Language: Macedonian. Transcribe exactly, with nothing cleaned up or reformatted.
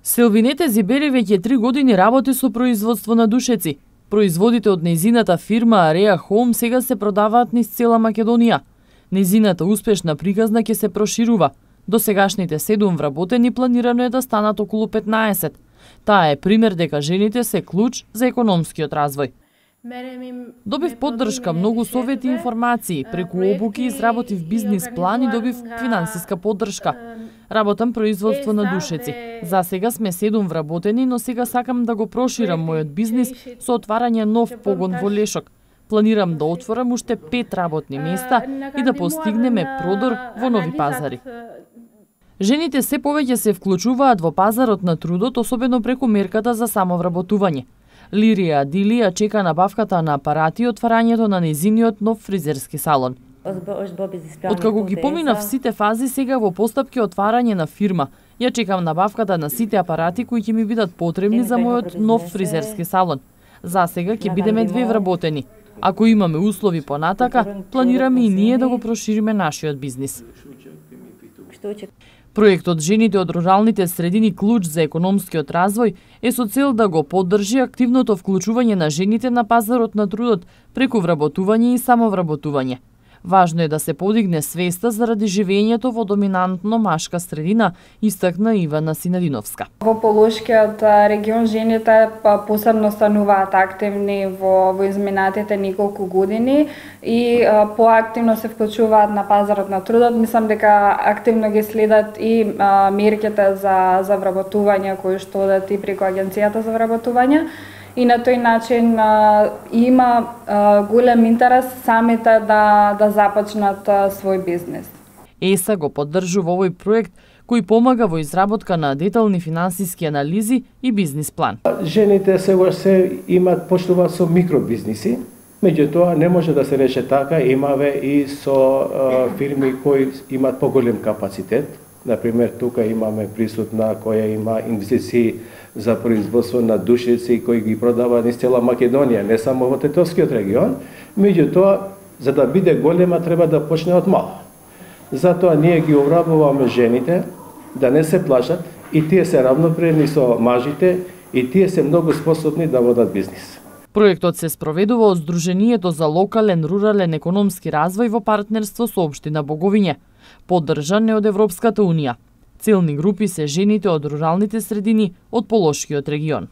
Селвинете Зибери веќе три години работи со производство на душеци. Производите од нејзината фирма Ареа Home сега се продаваат низ цела Македонија. Нејзината успешна приказна ќе се проширува. До сегашните седум вработени планирано е да станат околу петнаесет. Таа е пример дека жените се клуч за економскиот развој. Добив поддршка, многу совети и информации, преку обуки изработив бизнис план и добив финансиска поддршка. Работам производство на душеци. За сега сме седум вработени, но сега сакам да го проширам мојот бизнис со отварање нов погон во Лешок. Планирам да отворам уште пет работни места и да постигнеме продор во нови пазари. Жените се повеќе се вклучуваат во пазарот на трудот, особено преку мерката за самовработување. Лирија Дилија чека набавката на апарати и отварањето на нејзиниот нов фризерски салон. Откако ги поминав сите фази, сега во постапки отварање на фирма. Ја чекам набавката на сите апарати кои ќе ми бидат потребни за мојот нов фризерски салон. За сега ќе бидеме две вработени. Ако имаме услови понатака, планираме и ние да го прошириме нашиот бизнис. Проектот Жените од руралните средини клуч за економскиот развој е со цел да го поддржи активното вклучување на жените на пазарот на трудот преку вработување и самовработување. Важно е да се подигне свеста заради живењето во доминантно машка средина, истакна Ивана Синадиновска. Во Полошкиот регион жените посебно стануваат активни во, во изминатите неколку години и а, поактивно се вклучуваат на пазарот на трудот. Мислам дека активно ги следат и а, мерките за, за вработување кои што одат и преку агенцијата за вработување. И на тој начин а, има а, голем интерес самите да, да започнат а, свој бизнес. ЕСА го поддржува овој проект кој помага во изработка на детални финансиски анализи и бизнис план. Жените сегаш се имат почнуваат со микробизниси, меѓутоа не може да се рече така, имаве и со а, фирми кои имаат поголем капацитет. Например, тука имаме присутна која има инвестиции за производство на душеци кои ги продава низ цела Македонија, не само во Тетовскиот регион, меѓутоа за да биде голема треба да почне од мало. Затоа ние ги обрабуваме жените да не се плашат и тие се равноправни со мажите и тие се многу способни да водат бизнис. Проектот се спроведува од Сдруженијето за локален рурален економски развој во партнерство со општина Боговиње, поддржан е од Европската унија. Целни групи се жените од руралните средини од Полошкиот регион.